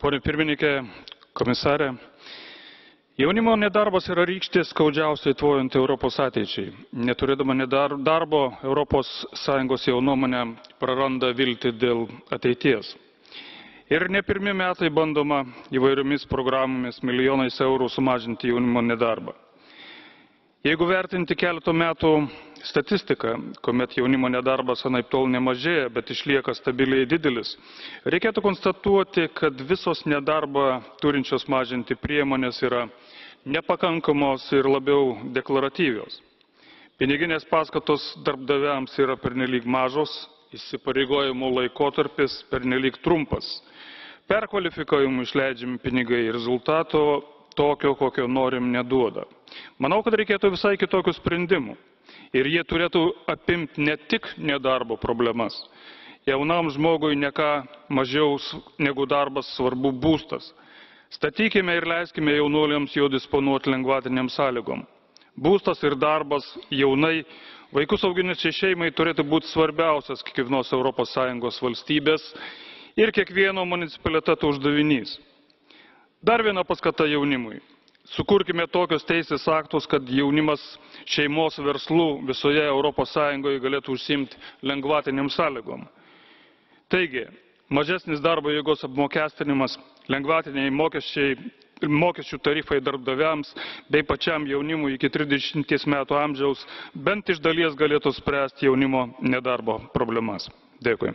Pone pirmininkė, komisarė, jaunimo nedarbas yra rykštė skaudžiausiai tvojant Europos ateičiai. Neturėdama darbo, Europos Sąjungos jaunuomenė praranda viltį dėl ateities. Ir ne pirmi metai bandoma įvairiomis programomis milijonais eurų sumažinti jaunimo nedarbą. Jeigu vertinti keletų metų statistiką, kuomet jaunimo nedarbas anaiptol nemažėja, bet išlieka stabiliai didelis, reikėtų konstatuoti, kad visos nedarbą turinčios mažinti priemonės yra nepakankamos ir labiau deklaratyvios. Piniginės paskatos darbdaviams yra pernelyg mažos, įsipareigojimų laikotarpis pernelyg trumpas. Perkvalifikavimui išleidžiami pinigai rezultato tokio, kokio norim, neduoda. Manau, kad reikėtų visai kitokių sprendimų. Ir jie turėtų apimti ne tik nedarbo problemas. Jaunam žmogui ne ką mažiau negu darbas svarbu būstas. Statykime ir leiskime jaunuoliams jo disponuoti lengvatiniam sąlygom. Būstas ir darbas jaunai vaikus auginančiai šeimai turėtų būti svarbiausias kiekvienos ES valstybės ir kiekvieno municipaliteto uždavinys. Dar viena paskata jaunimui. Sukurkime tokios teisės aktus, kad jaunimas šeimos verslų visoje ES galėtų užsiimti lengvatiniam sąlygom. Taigi, mažesnis darbo jėgos apmokestinimas, lengvatiniai mokesčių tarifai darbdaviams bei pačiam jaunimui iki 30 metų amžiaus bent iš dalies galėtų spręsti jaunimo nedarbo problemas. Dėkui.